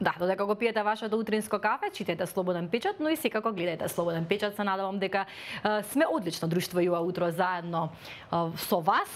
Да, додека го пиете вашето утринско кафе, читете Слободен печат, но и секако гледајте Слободен печат. Се надевам дека сме одлично друштво Јуа утро заедно со вас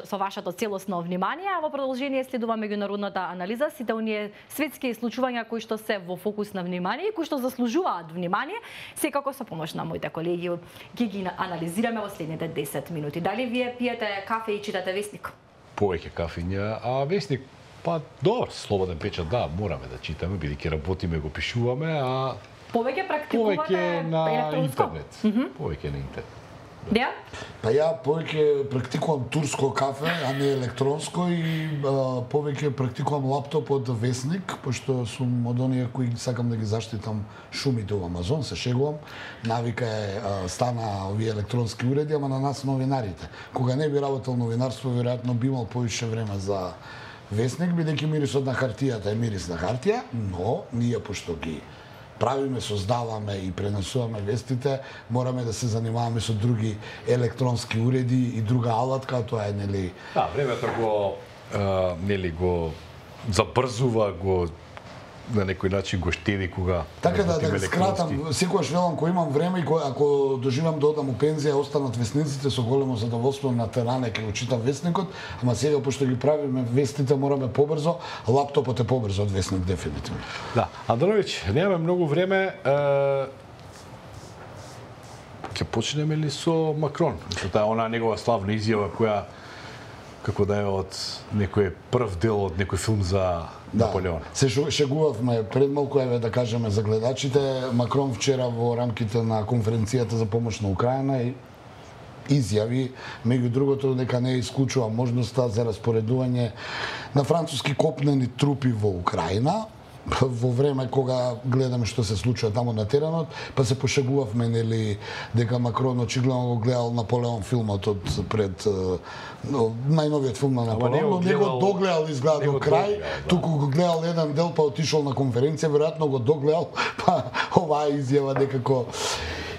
со вашето целосно внимание, а во продолжение следува меѓународната анализа, сите оние светски случувања кои што се во фокус на внимание и кои што заслужуваат внимание, секако со помош на моите колеги ги анализираме во следните 10 минути. Дали вие пиете кафе и читате весник? Повеќе кафења, а весник па добар, Слободен печат, да, мораме да читаме, бидејќи работиме, го пишуваме, а повеќе практикувате на електронско? интернет. Повеќе на интернет. Да? Па ја повеќе практикувам турско кафе, а не електронско и повеќе практикувам лаптоп од весник, пошто сум од оние кои сакам да ги заштитам шумите во Амазон, се шегувам. Навика е стана овие електронски уреди, ама на нас новинарите. Кога не би работел новинарство, веројатно би имал повише време за весник, бидејќи мирисот на хартијата е мирис на хартија, но ние пошто ги правиме, создаваме и пренесуваме вестите, мораме да се занимаваме со други електронски уреди и друга алатка, тоа е нели. Да, времето го забрзува, го на некој начин го штеди кога така да скратам, секогаш велам кога имам време и ако доживам да одам у пензија, останат весниците, со големо задоволство на теране ќе го читам весникот, ама сега пошто ги правиме вестите мораме побрзо, лаптопот е побрзо од весник дефинитивно. Да, Андронович, немаме многу време. Ќе почнеме ли со Макрон? Со таа она негова славна изјава која како да е од некој прв дел од некој филм за Наполеон. Се шегувавме пред малку, еве да кажеме за гледачите, Макрон вчера во рамките на конференцијата за помош на Украина и изјави, меѓу другото, дека не исклучува можноста за распоредување на француски копнени трупи во Украина, во време кога гледаме што се случува таму на теренот, па се пошегувавме нели дека Макрон очигледно го гледал Наполеон филмот од пред најновиот филм на Наполеон, но не го догледал изгледа до крај, туку го гледал еден дел па отишол на конференција, веројатно го догледал, па оваа изјава некако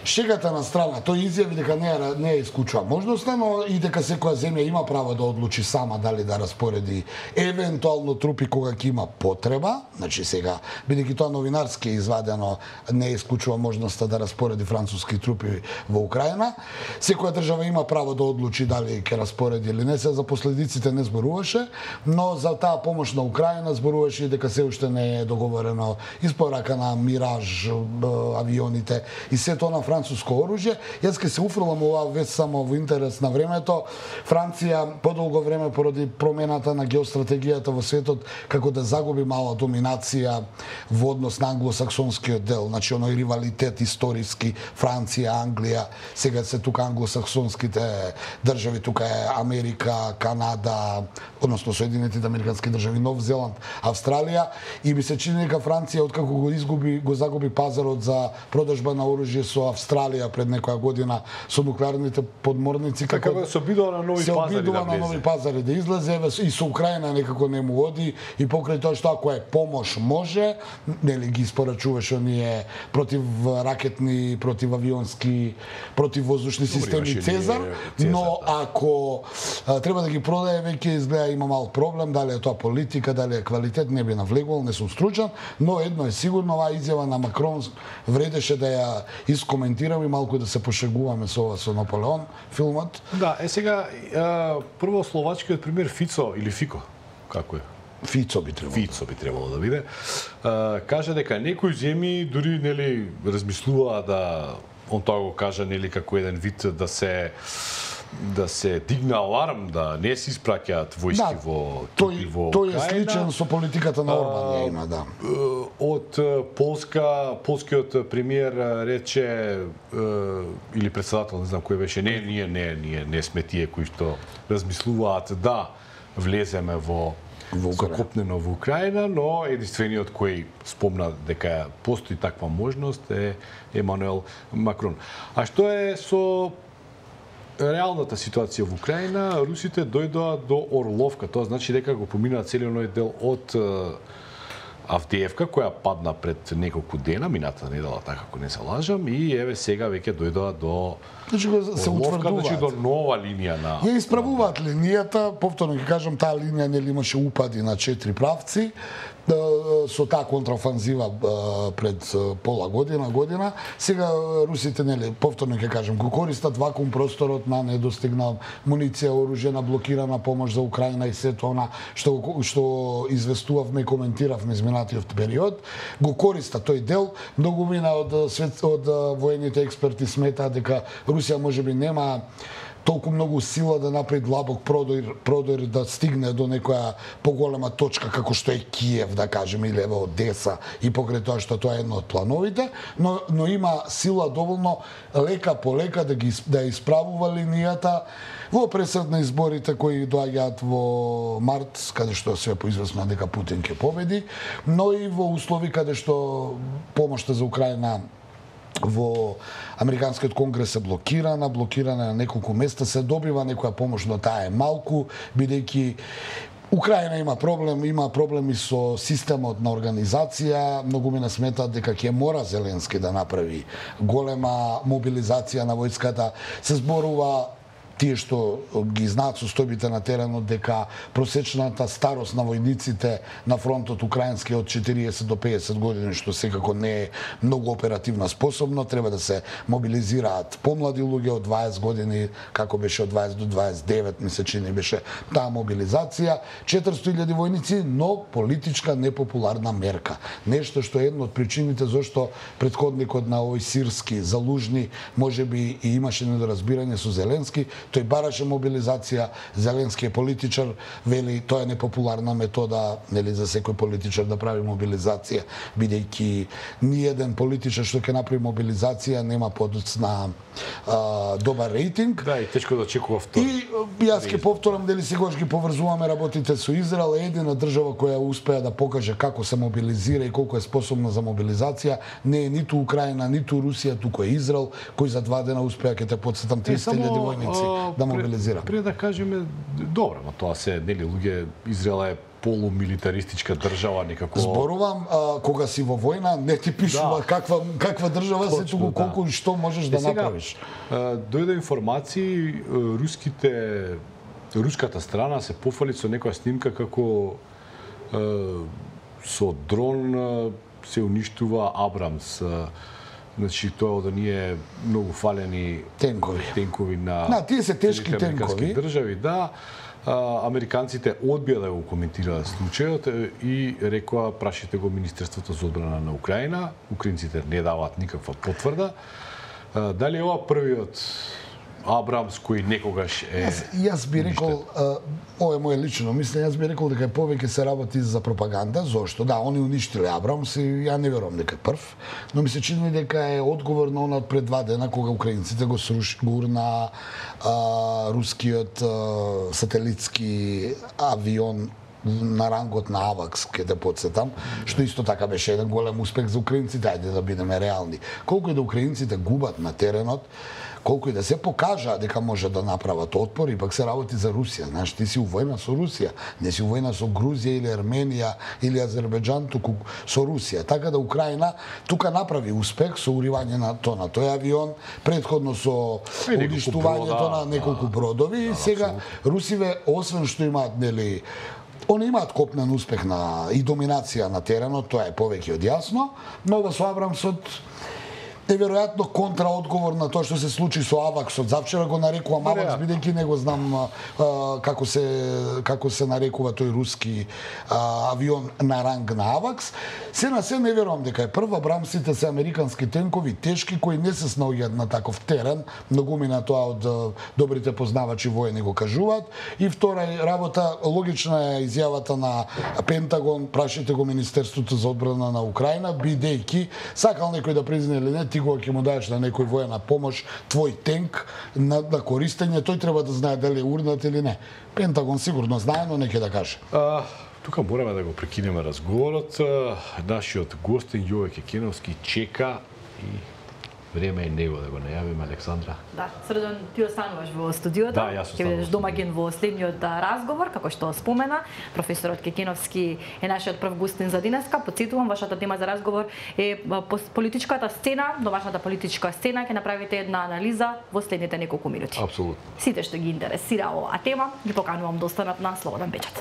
шегата на страна, тој изјави дека не е исклучува можноста, но и дека секоја земја има право да одлучи сама дали да распореди евентуално трупи кога ќе има потреба. Значи сега, бидејќи тоа новинарски е извадено, не е исклучува можноста да распореди француски трупи во Украина. Секоја држава има право да одлучи дали ќе распореди или не. Се за последиците не зборуваше, но за таа помош на Украина зборуваше и дека се уште не е договорено испорака на Мираж авионите и се тоа на француско оружје. Јас ке се уфрлам оваа вест само во интерес на времето. Франција подолго време поради промената на геостратегијата во светот како да загуби мала доминација во однос на англосаксонскиот дел, значи оној ривалитет историски Франција, Англија, сега се тука англосаксонските држави, тука е Америка, Канада, односно Соединетите американски држави, Нов Зеланд, Австралија и би се чини дека Франција откако го загуби пазарот за продажба на оружје со Австралија пред некоја година со нуклеарните подморници, како се обидува на нови пазари да излезе, и со Украина некако не му оди и покрај тоа што ако е помош може, нели ги испорачуваше оние противракетни, противавионски, противвоздушни системи Цезар, но ако треба да ги продае, веќе изгледа има мал проблем, дали е тоа политика, дали е квалитет, не би навлегувал, не сум стручен, но едно е сигурно, оваа изјава на Макрон вредеше да ја искоментирам и малку да се пошегуваме со ова со Наполеон филмот. Да, сега прво словачкиот пример Фицо или Фико, како е? Фицо би требало да биде. Кажа дека некои земји дури нели размислуваат да он тоа го кажа нели како еден вид да се дигне аларм, да не се испраќаат војски во Украина. Тој е сличен со политиката на Орбан, има, да. Од полскиот премиер рече, или председател, не знам кој беше, ние не сме тие кои што размислуваат да влеземе во закопнено во Украина, но единствениот кој спомна дека постои таква можност е Емануел Макрон. А што е со реалната ситуација во Украина? Русите дојдоа до Орловка, тоа значи дека го поминаа целиот оној дел од Авдеевка, која падна пред неколку дена, мината недела, така ако не се лажам, и еве сега веќе дојдоа до се утврдуваат. Значи до нова линија на... Ја исправуваат линијата, повторно ќе кажам, таа линија нели имаше упади на 4 правци, со таа контраофанзива пред пола година. Сега русите, нели, повторно ќе кажем, го користат вакуум просторот на недостигна муниција, оружје, блокирана помош за Украина и сето она што известувавме и коментиравме изминатиот период, го користат тој дел. Многумина од воените експерти сметаат дека Русија можеби нема толку многу сила да направи длабок продор да стигне до некоја поголема точка како што е Киев, да кажеме, или ево Одеса, и покрај тоа што тоа е едно од плановите, но има сила доволно лека по лека да исправува линијата во пресед на изборите кои доаѓаат во март, каде што се поизвестно дека Путин ќе победи, но и во услови каде што помошта за Украина во Американскиот конгрес е блокирана на неколку места, се добива некоја помош, но таа е малку, бидејќи Украина има проблеми со системот на организација. Многумина сметаат дека ќе мора Зеленски да направи голема мобилизација на војската. Се зборува тие што ги знаат состојбите на теренот дека просечната старост на војниците на фронтот украински од 40 до 50 години, што секако не е многу оперативно способно. Треба да се мобилизираат помлади луѓе од 20 години, како беше од 20 до 29, ми се чини беше таа мобилизација. 400.000 војници, но политичка непопуларна мерка. Нешто што е една од причините зашто претходникот на овој Сирски Залужни можеби и имаше недоразбирање со Зеленски. Тој бараше мобилизација, Зеленски е политичар, вели тоа е непопуларна метода, нели, за секој политичар да прави мобилизација, бидејќи ниеден политичар што ќе направи мобилизација нема подоцна добар рейтинг. Да, и тешко да очекува втори. И јас ќе повторам, дали сегаш ги поврзуваме работите со Израел, е едина држава која успеа да покаже како се мобилизира и колку е способна за мобилизација. Не е ниту Украина, ниту Русија, туку е Израел, кој за 2 дена успеа, ќе те потсетам, 30.000 војници да мобилизира. Пред да кажеме, добро, но тоа се, нели, луѓе, Израел е полумилитаристичка држава некако. Зборувам, кога си во војна, не ти пишува каква држава се, туку колку и што можеш да направиш. Дојде информации, руската страна се пофали со некоја снимка како со дрон се уништува Абрамс. Значи, тоа да ние многу фалени тенкови на тие се тешки тенкови држави, да. Американците одбија да го коментираат случајот и рекоа прашите го Министерството за одбрана на Украина. Украинците не даваат никаква потврда. Дали е ова првиот Абрамс кој некогаш е... Јас би рекол, ова е моје лично мислење, јас би рекол дека повеќе се работи за пропаганда. Зошто? Да, они уништиле Абрамс и ја не верувам дека е прв, но ми се чини дека е одговор на она пред 2 дена кога украинците го урна рускиот сателитски авион на рангот на Авакс, ке да подсетам, што исто така беше еден голем успех за украинците, ајде да бидеме реални. Колку и да украинците губат на теренот, колку и да се покажа дека може да направат отпор, и пак се работи за Русија. Знаеш, ти си у војна со Русија, не си у војна со Грузија или Арменија или Азербејџан, туку со Русија. Така да Украина тука направи успех со уривање на тој авион, претходно со уништувањето на неколку бродови, и сега русиве, освен што имаат, нели, они имаат копнен успех и доминација на теренот, тоа е повеќе од јасно, но ова со Абрамсот неверојатно контраодговор на тоа што се случи со Аваксот. Завчера го нарекувам Авакс, бидејќи не го знам како се нарекува тој руски авион на ранг на Авакс. Се на се не верувам дека е прва. Абрамсите се американски тенкови, тешки, кои не се снаоѓаат на таков терен. Многумина тоа од добрите познавачи војни го кажуваат. И втора работа, логична е изјавата на Пентагон, прашите го Министерството за одбрана на Украина, бидејќи сакал некој да призна или не, ти кога ќе му даеш на некој војна помош твој тенк на користење, тој треба да знае дали е урнат или не. Пентагон сигурно знае, но не ќе да каже. Тука мораме да го прекинеме разговорот. Нашиот гостин Јове Кекеновски чека и време е него да го најавиме, Александра. Да, Срден, ти остануваш во студиото. Да, јас останувам. Ќе бидеш домаќин во следниот разговор, како што спомена. Професорот Кекеновски е нашиот прв гостин за денеска. Потсетувам, вашата тема за разговор е политичката сцена, домашната политичка сцена. Ќе направите една анализа во следните неколку минути. Апсолутно. Сите што ги интересира оваа тема, ги поканувам да останат на Слободен печат.